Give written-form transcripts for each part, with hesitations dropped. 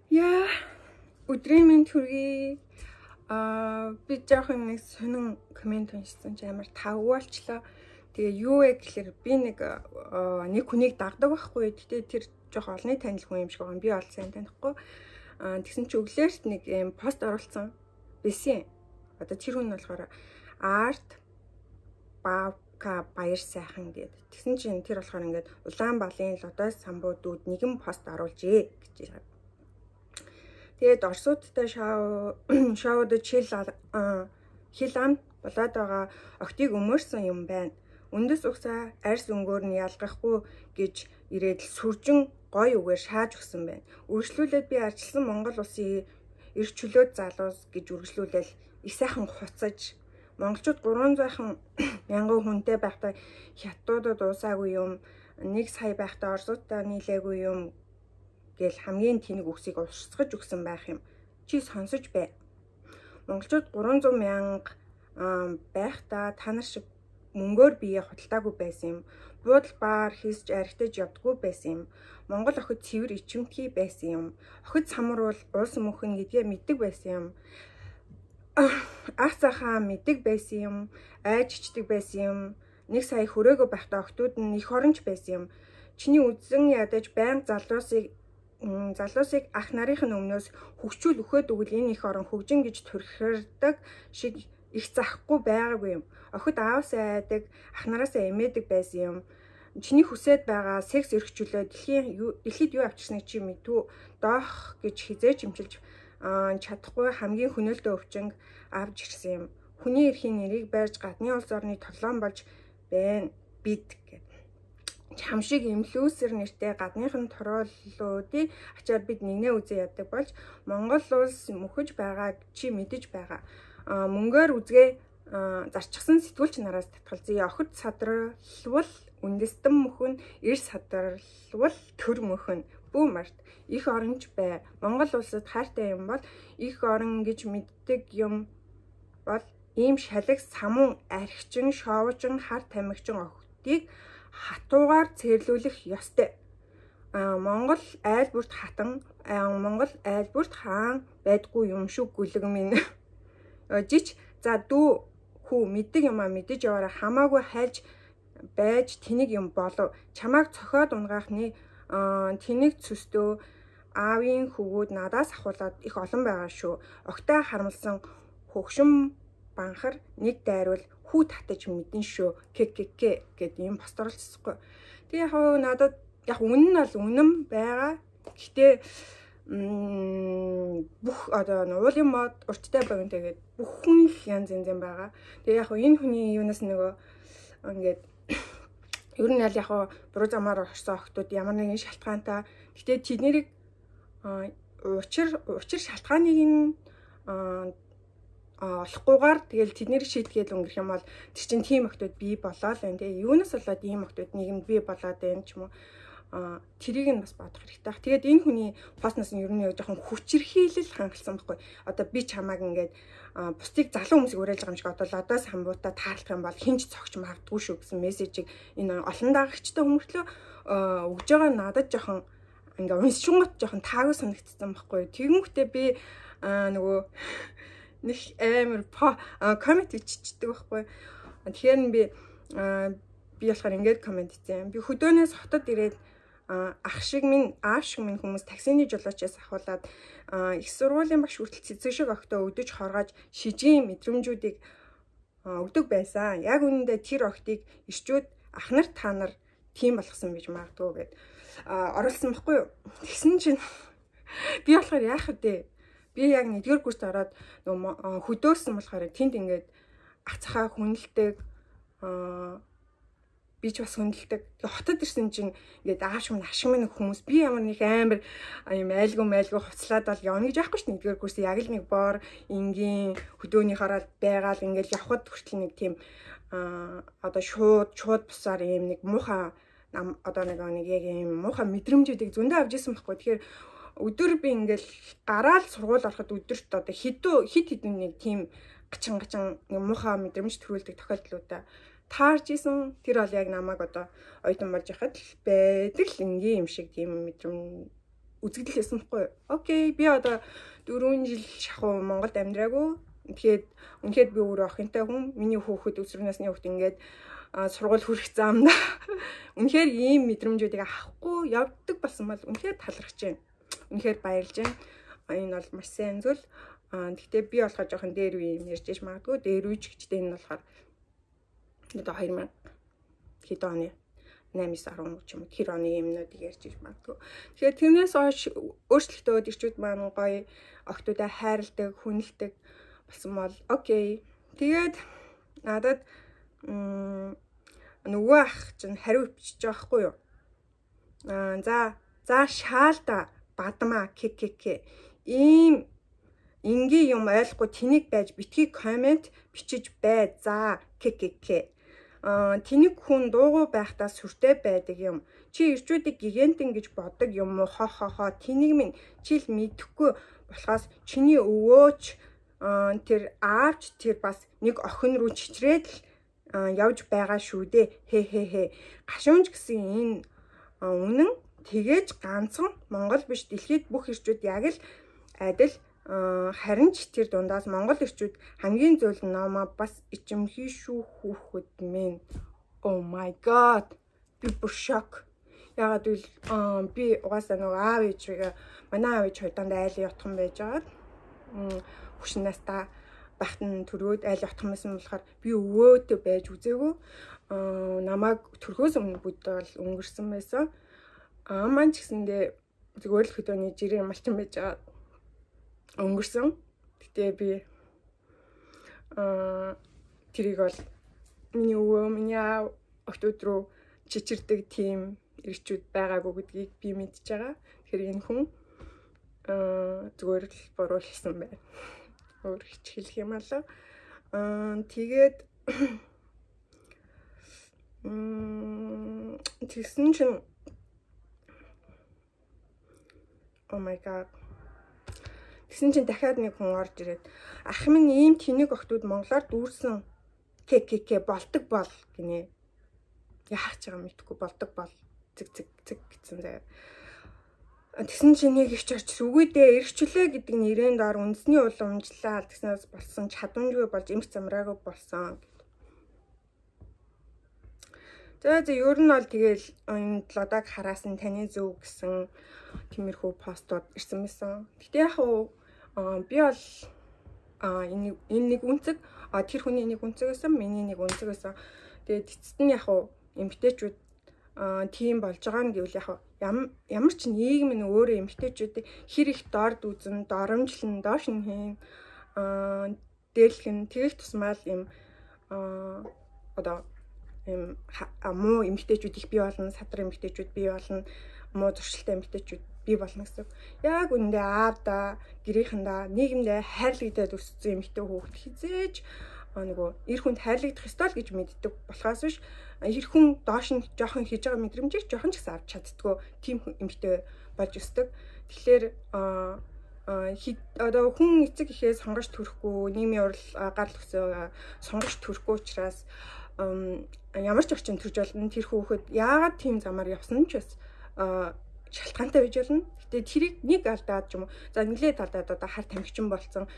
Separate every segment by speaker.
Speaker 1: Яа, өдрийн минь төргий. Би жоохон нэг сонин комент уншсан чи амар тавуулчлаа. Тэгээ юу вэ гэхээр би нэг хүнийг дагдаг байхгүй. Гэтэ тэр жоох олны танил хүн юм шиг байгаа. Би бол сайн танихгүй. Тэгсэн чи өглөөрт нэг юм пост оруулсан байсан. Одоо тэр хүн нь болохоор арт бака баяр сайхан гэдэг. Тэгсэн чинь тэр болохоор ингээд Улаанбаалын лодой самбуудууд нэгэн пост оруулжээ гэж байгаа. Тэгээд Оросуудтай шоуд хил ам болоод байгаа октыг өмөрсөн юм байна. Үндэс угсаа арьс өнгөөр нь ялгахгүй гэж ирээд сүржин гой үгээр шааж өгсөн байна. Үргэлжлүүлээд би арчилсан Монгол улсын эрх чөлөөт залуус гэж үргэлжлүүлэл их сайхан хуцаж монголчууд 300 мянган хүнтэй байхдаа хятадуудад уусаагүй юм, 1 сая байхдаа Оросуудтай нийлээгүй юм гэл хамгийн тэнэг үгсийг урсгаж өгсөн байх юм. Чи сонсож бай. Монголчууд 300 мянга байхдаа та нар шиг мөнгөөр бие худалдаагүй байсан юм. Буудал баар хийсж архитаж явдаггүй байсан юм. Монгол охид цэвэр ичимтгий байсан юм. Охид самар бол улс мөнхөн гэдгээ мэддэг байсан юм. Ах цахаа мэддэг байсан юм. Айж ичдэг байсан юм. 1 сая хүрээгүй байхдаа охтууд нь их оронч байсан юм. Чиний үзэн ядаж байнга залуусыг ах нарын өмнөөс хөгчүүл өгөхөд өгвөл энэ их орон хөгжин гэж төрхөрдөг шиг их захгүй байгаагүй юм. Охид аавсаа айдаг, ах нараасаа эмээдэг байсан юм. Чиний хүсээд байгаа секс эрхчлөө дэлхийд юу авчирсныг чи мэдвүү. Доох гэж хизээч имчилж чадахгүй хамгийн хөнөөлтөө өвчнг авч ирсэн юм. Хүний эрхийн нэрийг байрж гадны улс орны толгоон болж байна бид гэдэг. Хамшиг инфлюенсер нэртэй гадныхан туруулуудын ачаар бид нэгнээ үзээ яддаг болж Монгол улс мөхөж байгааг чи мэдэж байгаа. Мөнгөөр үзгээ зарчсан сэтгүүлч нараас татгалзъя. Охид садралвал үндэстэн мөхөн, эрс садралвал төр мөхөн. Бүү март их оронч бай. Монгол улсад хайртай юм бол их орон гэж мэддэг юм бол ийм шалаг самун архичин, шоовчин, хар тамхичин охидыг хатуугаар цэрлүүлэх ёстой. Монгол айлбүрт хатан, Монгол айлбүрт хаан байдгүй юм шүү гүлэг минь. Жич за дүү хүү мэддэг юмаа мэдэж яваараа хамаагүй хайлж байж тэнийг юм болов. Чамааг цохоод унгаахны тэнийг цөстөө аавын хөвгүүд надаас ахуулаад их олон байгаа шүү. Огтой харамлсан хөгшин банхар нэг дайрвал хүү татаж мэдэн шүү. Ккк гэдэг юм пост оруулчихсан. Тэгээ яг надад яг үнэн нь бол үнэн байгаа. Гэхдээ бүх одоо уулын мод урттай багын тэгээд бүх хүн янз янз байгаа. Тэгээ яг энэ хүний юунаас нөгөө ингээд ер нь яг буруу замаар орсон охтууд ямар нэгэн шалтгаантай. Гэхдээ тэднийг учир шалтгааныг нь олохгүйгээр тэгэл тэднийг шийдгээд өнгөрөх юм бол тэр чинь тийм охтууд бий болоод байна. Тэгээ юунаас болоод ийм охтууд нийгэмд бий болоод байна ч юм уу. Тэрийг нь бас бодох хэрэгтэй. Тэгээд энэ хүний постноос нь ер нь жоохон хүчирхийлэл хангалсан байхгүй. Одоо би чамааг ингээд бусдыг залуу хүмүүсийг уриалж байгаа юм шиг одоо лодоос хамбуудаа таарлах юм бол хинч цогч магадгүй шүү гэсэн мессежийг энэ олон дагагчтай хүмүүртлөө өгж байгаа надад жоохон ингээд уншингот жоохон таагүй санагдсан байхгүй. Тэгэнгүүтээ би нөгөө нэг амар коммент биччихдэг байхгүй. Тэгэхээр би болохоор ингээд коммент хийсэн. Би хөдөөнөөс хотод ирээд ах шиг минь аав шиг минь хүмүүс таксины жолоочоос ахуулаад их сургуулийн багш хүртэл цэцэг шиг октоо өдөж хоргож шижийн мэдрэмжүүдийг өгдөг байсан. Яг үнэндээ тэр октыг ирчүүд ах нар та нар тийм болгосон гэж магадгүй гэд оруулсан байхгүй юу. Тэгсэн чинь би болохоор яах вэ? Би яг 1-р курст ороод хөдөөсөн болохоор тэнд ингээд ах цахаа хүндэлдэг би ч бас хүндэлдэг. Хотод ирсэн чинь ингээд ааш минь хүмүүс би ямар нэг амар юм айлгүй хуцлаад бол явна гэж яахгүй шүү дээ. 1-р курс яг л нэг бор энгийн хөдөөний хараад байгаал ингээд явхад хүртэл нэг тийм одоо шууд бусаар юм нэг муухай одоо нэг яг юм муухай мэдрэмжүүдийг зөндөө авч ирсэн байхгүй. Тэгэхээр өдөр би ингээл гараал сургууль ороход өдөрт одоо хит хитэн нэг тийм гачин нэг муухай мэдрэмж төрүүлдэг тохиолдлуудаа таарж исэн. Тэр бол яг намайг одоо оюутан болж байхад л байдаг л ингийн юм шиг тийм мэдрэмж үзэгдэл хийсэн байхгүй юу? Окей, би одоо 4 жил шахуу Монголд амьдраагүй. Тэгэхээр үнэхээр би өөрөө охинтой хүн. Миний хүүхэд өсвөр насны хүүхэд ингээд сургууль хүрэх замда үнэхээр ийм мэдрэмжүүдийг авахгүй явдаг болсон бол үнэхээр талархаж байна. Үнэхээр баярлж байна. Энэ бол маш сайн зүйл. Гэхдээ би болохоор жоохон дээр үе юм ярьж магадгүй. Дээр үеч гэжтэй энэ болохоор одоо 2000 хэд оны 8-10 ч юм уу тэр оны юмнуудыг ярьж магадгүй. Тэгэхээр тэрнээс хойш өөрчлөлтөө ирчүүд маань гоё охтуудаа хайрладаг, хүндэлдэг болсон бол окей. Тэгээд надад нөгөө ах чинь хариу бичиж байгаа хгүй юу? За шаалда бадмаа ккк. Ийм энгийн юм ойлгохгүй тэнийг байж битгий комент бичиж бай. За ккк. Тэнийг хүн дуугүй байхдаа сүртэй байдаг юм. Чи ирчүүдийг гигантин гэж боддог юм уу? Хо. Тэнийг минь чил мэдэхгүй болохоос чиний өвөөч тэр аавч тэр бас нэг охин руу чичрээд л явж байгаа шүү дээ. Хэ. Гашуунч гэсэн энэ үнэн тэгээж ганцхан Монгол биш дэлхийд бүх ирчүүд яг л адил. Харин ч тэр дундаас Монгол ирчүүд хамгийн зүйл намаа бас ичимхий шүү хүүхэд минь. Oh my god. Би бүр шок. Ягаад гэвэл би угаасаа нөгөө аав ээжигээ манай аав ээж хоёр дандаа айлын ятхан байж байгаад хөшнээс та багтан төрөөд айл ятхан байсан болохоор би өвөөтэй байж үзээгүй. Намайг төрхөөс өмнө бүд бол өнгөрсөн байсан. Маань ч гэсэндээ зүгээр л хөдөөний жирийн малчин байж байгаа өнгөрсөн. Гэтэ би тэрийг бол миний өвөө, миний аав охтууд руу чичирдэг тийм ирчүүд байгаагүй гэдгийг би мэдж байгаа. Тэгэхээр энэ хүн зүгээр л буруу хэлсэн байна. Өөр хич хэлэх юм алаа. Тэгээд тэгсэн чинь oh my god. Тэгсэн чинь дахиад нэг хүн орж ирээд ах минь ийм тэнэг охтууд монголоор дүүрсэн ккк болдог бол гинэ. Яах ч байгаа мэдхгүй болдог бол цэг гэсэн заяа. Тэгсэн чинь нэг их ч орч үгүйдээ эргчлээ гэдэг нэрийн доор үндэсний уламжлал тэгснээс болсон чадамжгүй болж эмх замраагүй болсон. За ер нь бол тэгэл энэ лодаг хараас нь таны зөв гэсэн тиймэрхүү постууд ирсэн байсан. Гэтэ яг би бол энэ нэг үнцэг тэр хүний нэг үнцэг байсан, миний нэг үнцэг байсан. Тэгээд эцэст нь яг эмгтээчүүд тийм болж байгаа нь гэвэл яг ямар ч нийгэм нь өөрөө эмгтээчүүдийг хэр их дорд үзэн, доромжлон, доош нь хийн дээлхэн тэгэх тусмал юм одоо юм муу эмгтээчүүд их бий болно, садар эмгтээчүүд бий болно, муу зуршилтай эмгтээчүүд бий болно гэсэн. Яг үндэ аавда, гэрийнхэндээ, нийгэмдээ хайрлагдаад өссөн эмгтээ хүүхэд хизээж нөгөө эр хүнд хайрлагдах ёстой л гэж мэддэг болохоос биш эр хүн доош нь жоохон хийж байгаа мэдрэмжийг жоохон ч гэсэн авч чаддгүй тийм эмгтээ болж өсдөг. Тэгэхээр одоо хүн эцэг ихээ сонгож төрөхгүй, нийгмийн урал гарал өгсөө сонгож төрөхгүй учраас ямар ч орчин төрж болно. Тэр хүүхэд яагаад тийм замаар явсан ч бас шалтгаантай байж болно. Гэтэ тэрийг нэг алдаад ч юм уу. За нэлээд алдаад одоо хар тамхичин болсон,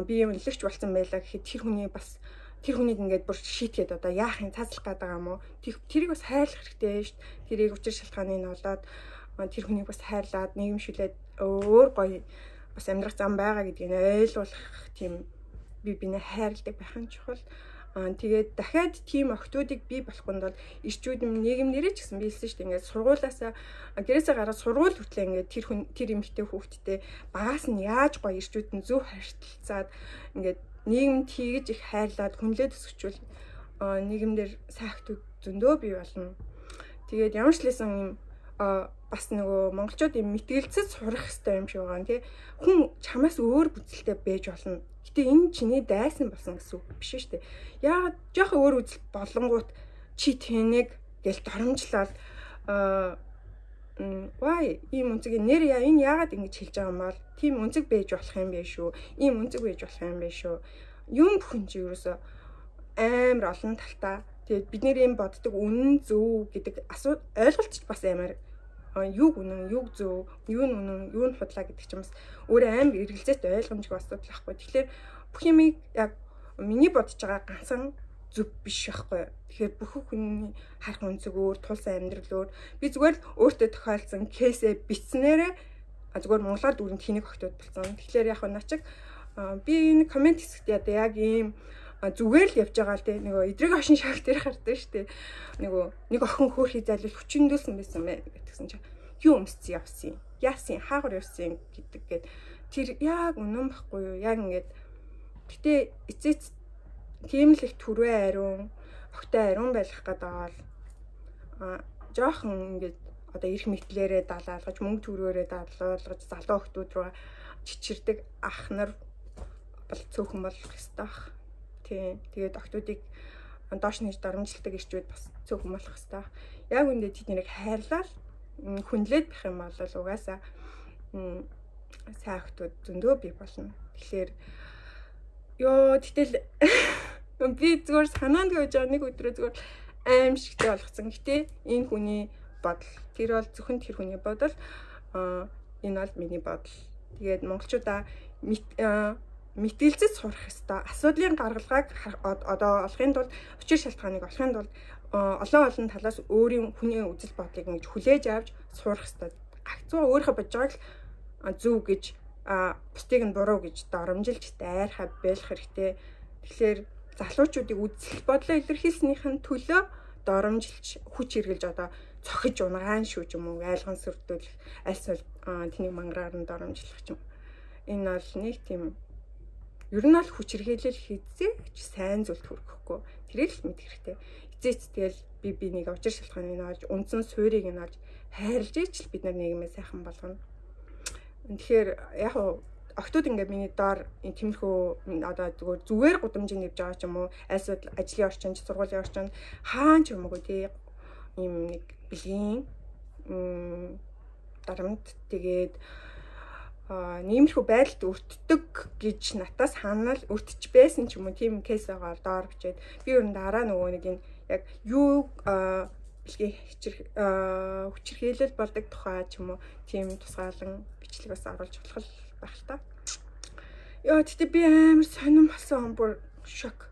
Speaker 1: би юм нэлэгч болсон байлаа гэхэд тэр хүний бас тэр хүнийг ингээд бүр шийтгэхэд одоо яах юм цааслах гэдэг юм уу? Тэрийг бас хайрлах хэрэгтэй шүү дээ. Тэрийг учир шалтгааныг нь олоод тэр хүнийг бас хайрлаад нийгэмшүүлээд өөр гоё бас амьдрах зам байгаа гэдгийг ойлгуулах тийм бинээ хайрладаг байх нь чухал. Тэгээд дахиад тийм охтуудыг бий болохын тулд ирчүүд нийгэмнэрээ ч гэсэн биелсэн шүү дээ. Ингээд сургуулаасаа гэрээсээ гараад сургууль хүртлээ ингээд тэр эмэгтэй хүүхдтэй багаас нь яаж гоё ирчүүд нь зөв харилцаад ингээд нийгэмд хийгэж их хайрлаад хүнлээд өсгчүүл нийгэмдэр сайн охтууд зөндөө бий болно. Тэгээд ямар ч лсэн юм бас нөгөө монголчууд юм мэтгэлцэж сурах хэрэгтэй юм шиг байгаа нэ. Хүн чамаас өөр бүзэлтэй байж болно. Гэтэ энэ чиний дайсан болсон гэсэн үг биш шүү дээ. Яагаад жоохон өөр үзэл болонгууд чи тэнэг гэл доромжлал why ийм үнцгийн нэр энэ яагаад ингэж хэлж байгаа юм бол тийм үнцэг байж болох юм бэ шүү. Ийм үнцэг байж болох юм бэ шүү. Юм бүхэн чи ерөөсө амар олон талтай. Тэгээд бид нэр юм боддог үнэн зөв гэдэг ойлголт ч бас амар юг үнэн, юг зөв, юу нь үнэн, юу нь худлаа гэдэг чинь бас өөрөө амар эргэлзээтэй ойлгомжгүй асуудал байхгүй. Тэгэхээр бүх юмыг яг миний бодож байгаа ганцхан зүг биш байхгүй. Тэгэхээр бүх хүний харах үнцэг өөр, тулсан амьдрал өөр. Би зүгээр л өөртөө тохиолдсон кейсээ бичснээрээ зүгээр монголоор дүрэнд хэнийг огтуд болсон. Тэгэхээр яг начиг би энэ комент хэсэгт яг ийм зүгээр л явж байгаа л те нөгөө эдрэг ошин шагт дээр гардаг штэ. Нөгөө нэг охин хөөрхий зайлуул хүчиндүүлсэн байсан мэ гэтгсэн чинь юу өмсцэн явсан. Яасан хаагур явсан гэдэг гээд тэр яг үнэн байхгүй юу? Яг ингээд гэтээ эцээц тийм л их түрвэ ариун, огтой ариун байх гээд байгаа л жоохон ингээд одоо эрх мэтлэрээ далаалгаж, мөнгө төгрөгөөрөө далаалгаж, залуу охтууд руу чичирдэг ах нар бол цөөхөн болох ёстой бах. Тийм. Тэгээд охтуудыг доош нэж дарамжилдаг ирчүүд бас цөөхөн болох ёстой. Яг үндэ тэднийг хайрлал хүнлээд байх юм бол угаасаа сайн охтууд зөндөө бий болно. Тэгэхээр тэгтэл би зүгээр санаанд гүйж байгаа нэг өдрөө зүгээр аимшигтэй болгоцсон. Гэтэ энэ хүний бодол. Тэр бол зөвхөн тэр хүний бодол. Энэ бол миний бодол. Тэгээд монголчуудаа мэтгэлцэж сурах ёстой. Асуудлын гаргалгааг одоо олохын тулд учир шалтгааныг олохын тулд олон талаас өөрийн хүний үзэл бодлыг ингэж хүлээж авч сурах ёстой. Гагцуу өөрийнхөө бодож байгааг зөв гэж бусдыг нь буруу гэж доромжилж дайрхаа байлах хэрэгтэй. Тэгэхээр залуучуудыг үзэл бодлоо илэрхийлснийхэн төлөө доромжилж хүч хэрглэж одоо цохиж унгаан шүү ч юм уу айлган сүрдүүлэх альсвал тэнийг мангараар нь доромжлох ч юм. Энэ бол нэг тийм ер нь бол хүч хэрглэл хийцээч сайн зүйлд хүрэхгүй. Тэрийг л мэдэх хэрэгтэй. Эцээц тэгэл би нэг учир шалтгааныг нь олж үндсэн суурийг нь олж хайрлж ичл бид нар нийгмээ сайхан болгоно. Тэгэхээр яг охтууд ингээд миний доор тиймэрхүү одоо зүгээр гудамжинд явж байгаа ч юм уу альсвал ажлын орчинд сургуулийн орчинд хаан ч юм уу тий ийм нэг бэлгийн дарамт тэгээд нэмэрхүү байдалд өртдөг гэж натаас хаанаа л өртөж байсан ч юм уу тийм кейс байгаа доор бичээд би ер нь дараа нөгөө нэг энэ яг юу бэлгийн хүчирхийлэл болдог тухай ч юм уу тийм тусгаалan бичлэг бас оруулж болох байх л та. Тэгтээ би амар сонирн болсон бүр шок.